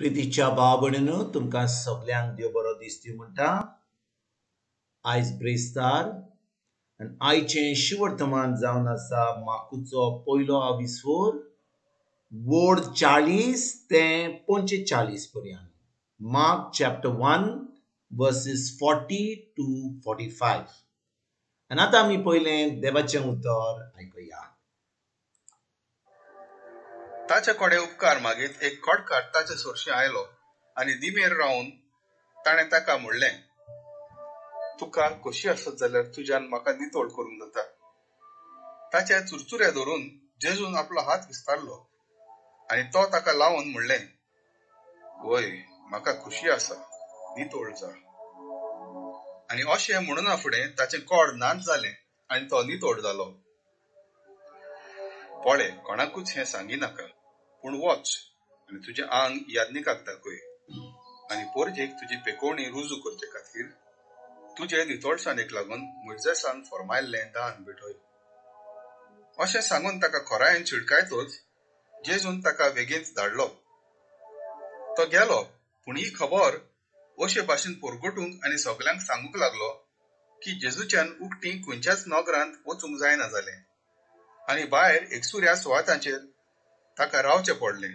प्रितीच्या भाव भयणीनो, तुमकां सगल्यांक देव बरो दीस दिवं म्हणटा. आयज ब्रेस्तार आनी आयचें शिवर्तमान जावन आसा माकुचो पयलो आविस्फोर वोर्ड 40 ते 45 पर्यंत. Mark chapter 1 verses 40 to 45. आनी आतां आमी पयलें देवाचें उतर आयकुया. ताचे कडेन उपकार मागीत एक खोटकार ताचे सरशी आयलो आनी दिमेर रावन ताणें ताका म्हणलें, तुका खोशी आसत जाल्यार तुज्यान म्हाका नितळ करूंक जाता. ताच्या चुरचुऱ्या धरून जेजून आपलो हात विस्तारलो आनी तो ताका लावन म्हणलें, वय, म्हाका खोशी आसा, नितळ जा. आनी अशें म्हणूना फुडें ताचें कोड नाच जालें आनी तो नितळ जालो. पळे, कोणाकूच हें सांगिनाका, पूण वच आनी तुजें आंग याज्ञिकाक दाखय आनी पोरजेक तुजी पेकोवणी रुजू करचे खातीर तुजे नितळसाणेक लागून मोयजेसान फर्मायल्लें दान भेटय. अशें सांगून ताका खोरायेन शिडकायतच जेजून ताका वेगींच धाडलो. तो गेलो, पूण ही खबर अशे भाशेन परगटूंक आनी सगल्यांक सांगूंक लागलो की जेजूच्यान उकटी खंयच्याच नगरांत वचूंक जायना जालें आनी भायर एकसुऱ्या सुवातांचेर ताका रावचें पडलें.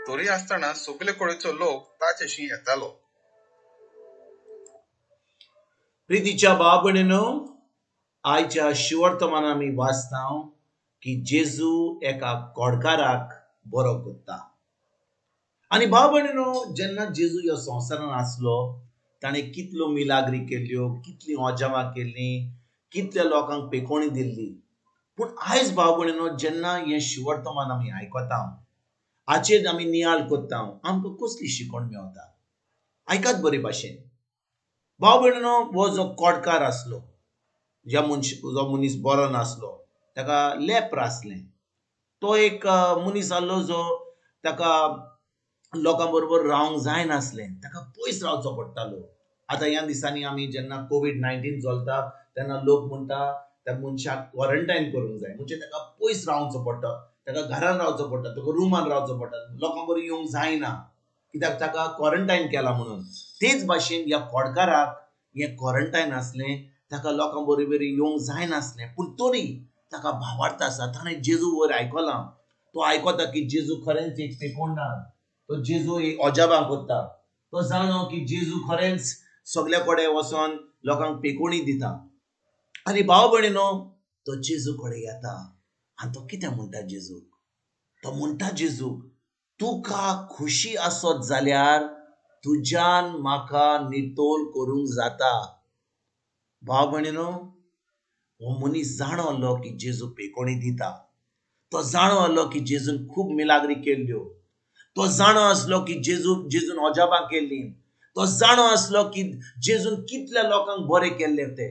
तरी आसतना सगले कडेचो लोक ताचेशी येतालो. प्रितीच्या भाव भयणीनो, आयच्या शिवर्तमान आमी वाचता की जेजू एका कोडकाराक बरो करता. आनी भाव भयणीनो, जेन्ना जेजू ह्या संवसारान आसलो ताणें कितल्यो मिलाग्री केल्ल्यो, कितलीं अजापां केल्लीं, कितल्या लोकांक पेकोवणी दिल्ली. पूण आयज भाव भयणीनो, जेन्ना हें शिवर्तमान आमी आयकता, हाचेर आमी नियाळ करता, आमकां कसली शिकवण मेळटा? आयकात बरे भाशेन. भाव भयणीनो, हो जो कोडकार आसलो, ज्या मनश जो मनीस बरो नासलो, ताका लेप्र आसलें. तो एक मनीस आसलो जो ताका लोकां बरोबर रावंक जायनासलें, ताका पयस रावचो पडटालो. आतां ह्या दिसांनी आमी जेन्ना कोवीड-19 चलता तेन्ना लोक म्हणटा त्या मनशाक क्वॉरंटायन करूंक जाय, म्हणजे ताका पयस रावचो पडटा, ताका घरान रावचो पडटा, ताका रुमान रावचो पडटा, लोकां बरोबर येवंक जायना, कित्याक ताका क्वॉरंटायन केला म्हणून. तेच भाशेन ह्या कोडकाराक हें क्वॉरंटायन आसलें, ताका लोकां बरोबर येवंक जायनासलें, पूण तरी ताका भावार्थ आसा. ताणें जेजू वयर आयकलां, तो आयकता की जेजू खरेंच एक पेकोवणार, तो जेजू एक अजापां करता, तो जाणो की जेजू खरेंच सगल्या कडेन वचोन लोकांक पेकोवणी दिता. आनी भाव भयणीनो, तो जेजू कडेन येता आनी तो कितें म्हणटा जेजूक? तो म्हणटा जेजूक, तुका खोशी आसत जाल्यार तुज्यान म्हाका नितळ करूंक जाता. भाव भयणीनो, हो मनीस जाणो आसलो की जेजू पेकोवणी दिता, तो जाणो आसलो की जेजून खूब मिलाग्री केल्ल्यो, तो जाणो आसलो की जेजून अजापां केल्लीं, तो जाणो आसलो की जेजून कितल्या लोकांक बरें केल्ले ते.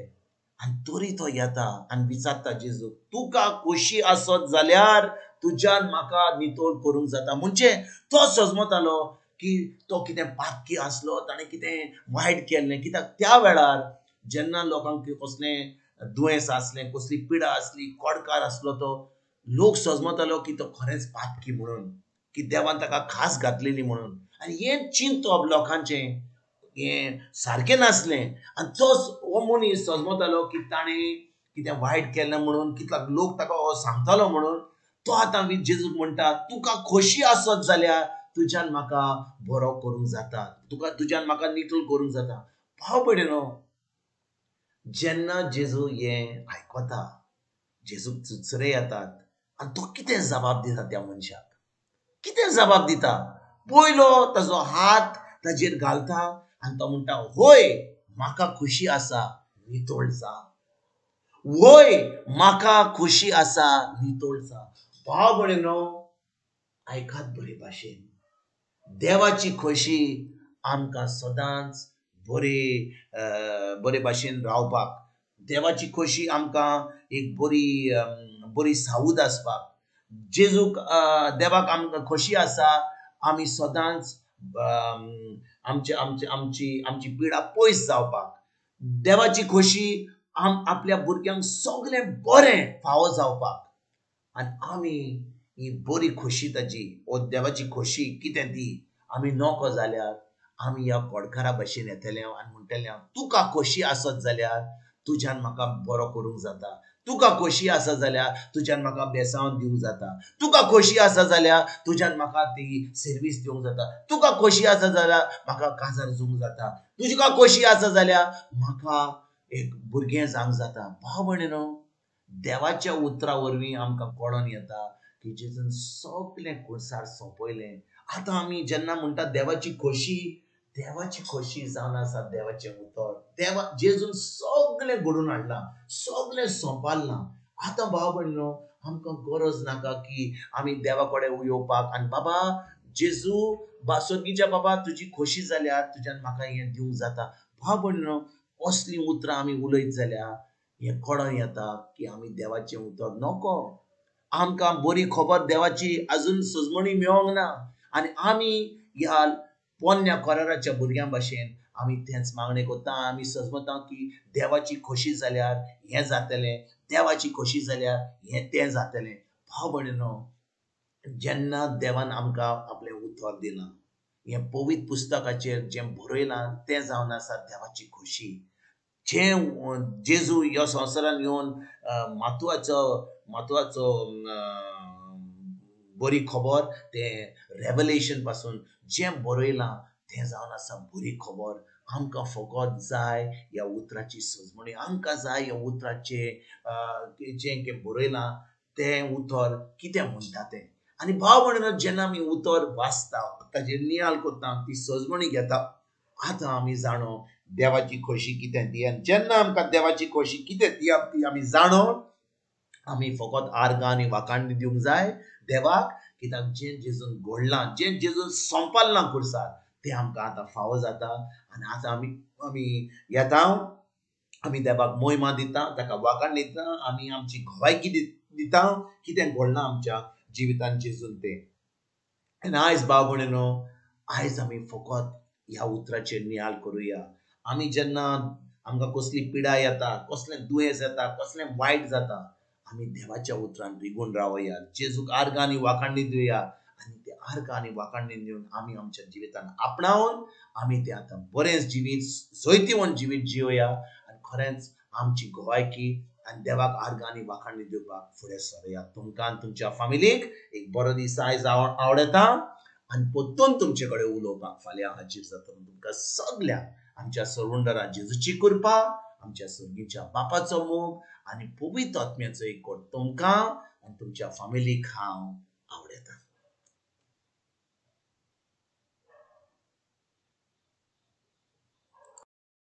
आनी तरी तो येता आनी विचारता जेजूक, तुका खोशी आसत जाल्यार तुज्यान म्हाका नितळ करूंक जाता. म्हणजे तो सजमतालो की तो कितें पातकी आसलो, ताणें कितें वायट केल्लें, कित्याक त्या वेळार जेन्ना लोकांक कसलें दुयेंस आसलें, कसली पिडा आसली, कोडकार आसलो, तो लोक सजमतालो की तो खरेंच पातकी म्हणून, की देवान ताका खास घातलेली म्हणून. आनी हें चिंतप लोकांचें हें सारकें नासलें. आनी तो हो मनीस सजमतालो की ताणें कितें वायट केलें म्हणून, कितलो लोक ताका हो सांगतालो म्हणून. तो आतां जेजूक म्हणटा, तुका खोशी आसत जाल्यार तुज्यान म्हाका बरो करूंक जाता, तुका तुज्यान म्हाका नितळ करूंक जाता. भाव भयणीनो, जेन्ना जेजू हें आयकता, जेजूक चुचरे येतात आनी तो कितें जबाब दिता त्या मनशाक? कितें जबाब दिता? पयलो ताजो हात ताजेर घालता आनी तो म्हणटा, होय, म्हाका खोशी आसा, नितळ जा. वय, म्हाका खोशी आसा, नितळ जा. भाव भयणीनो, आयकात बरे भाशेन, देवाची खोशी आमकां सदांच बरे बरे भाशेन रावपाक, देवाची खोशी आमकां एक बरी बरी सावूद आसपाक, जेजूक देवाक आमकां खोशी आसा आमी सदांच आमची आमची आमची आमची पिडा पयस जावपाक, देवाची खोशी आपल्या भुरग्यांक सगळें बरें फावो जावपाक. आनी आमी ही बरी खोशी ताजी, ओ देवाची खोशी कितें ती आमी नको जाल्यार आमी ह्या कोडकारा भशेन येतले आनी म्हणटले, तुका खोशी आसत जाल्यार तुज्यान म्हाका बरो करूंक जाता, तुका खोशी आसा जाल्यार तुज्यान म्हाका बेसांव दिवंक जाता, तुका खोशी आसा जाल्यार तुज्यान म्हाका ती सर्वीस दिवंक जाता, तुका खोशी आसा जाल्यार म्हाका काजार जूंक जाता, तुका खोशी आसा जाल्यार म्हाका एक भुरगें जावंक जाता. भाव भयणीनो, देवाच्या उतरा वरवीं आमकां कळोन येता की जेजून सगळें कुर्सार सोंपयलें. आतां आमी जेन्ना म्हणटा देवाची खोशी, देवाची खोशी जावन आसा देवाचें उतर. देवा जेजून सगळें घडोवन हाडलां, सगळें सोंपारलां. आतां भाव भयणीनो, आमकां गरज नाका की आमी देवा कडेन येवपाक आनी बाबा जेजू स्वर्गीच्या बाबा तुजी खोशी जाल्यार तुज्यान म्हाका हें दिवंक जाता. भाव भयणीनो, असलीं उतरां आमी उलयत जाल्यार हें कळोन येता की आमी देवाचें उतर नको. आमकां बरी खबर देवाची अजून सजमणी मेळोंक ना आनी आमी ह्या पोन्न्या कराराच्या भुरग्यां भशेन आमी तेंच मागणें करता. आमी सजमता की देवाची खोशी जाल्यार हें जातलें, देवाची खोशी जाल्यार हें तें जातलें. भाव भयणीनो, जेन्ना देवान आमकां आपलें उतर दिलां, हें पवित्र पुस्तकाचेर जें बरयलां तें जावन आसा देवाची खोशी. जें जेजू ह्या संवसारान येवन मातुआचो मातुआचो बरी खबर, तें रेवलेशन पासून जें बरयलां तें जावन आसा बरी खबर. आमकां फकत जाय ह्या उतराची सजमणी, आमकां जाय ह्या उतराचें जें कितें बरयलां तें उतर कितें म्हणटा तें. आनी भाव भयणीनो, जेन्ना आमी उतर वाचता, ताजेर नियाळ करता, ती सजमणी घेता, आतां आमी जाणो देवाची खोशी कितें ती. आनी जेन्ना आमकां देवाची खोशी कितें ती ती आमी जाणो, आमी फकत आर्गां आनी वाखाणी दिवंक जाय देवाक, कित्याक जें जेजून घडलां, जें जेजून सोंपारलां कुर्सार, तें आमकां आतां फावो जाता. आनी आतां आमी आमी येता, आमी देवाक मोहिमा दिता, ताका वाखाण दिता, आमी आमची गवायकी दिता कितें घडलां आमच्या जिवितान जेजून तें. आनी आयज भाव भयणीनो, आयज आमी फकत ह्या उतराचेर नियाळ करुया. आमी जेन्ना आमकां कसली पिडा येता, कसलें दुयेंस येता, कसलें वायट जाता, आमी देवाच्या उतरान रिगून रावया, जेजूक आर्गां आनी वाखाणी दिवया. आनी ते आर्गां आनी वाखाणी दिवन आमी आमच्या जिवितान आपणावन आमी तें आतां बरें जिवीत, जैतिवंत जिवीत जिवया आनी खरेंच आमची गवायकी आनी देवाक आर्गां आनी वाखाणी दिवपाक फुडें सरया. तुमकां आनी तुमच्या फामिलीक एक बरो दीस आयज आवडटा आनी परतून तुमचे कडेन उलोवपाक फाल्यां हाजीर जाता. तुमकां सगळ्यांक आमच्या सरवंडरा जेजूची कृपा, आमच्या सर्गीच्या बापाचो मोग आनी पवित्र आत्म्याचो एकवट तुमकां आनी तुमच्या फामिलीक हांव आवडटा.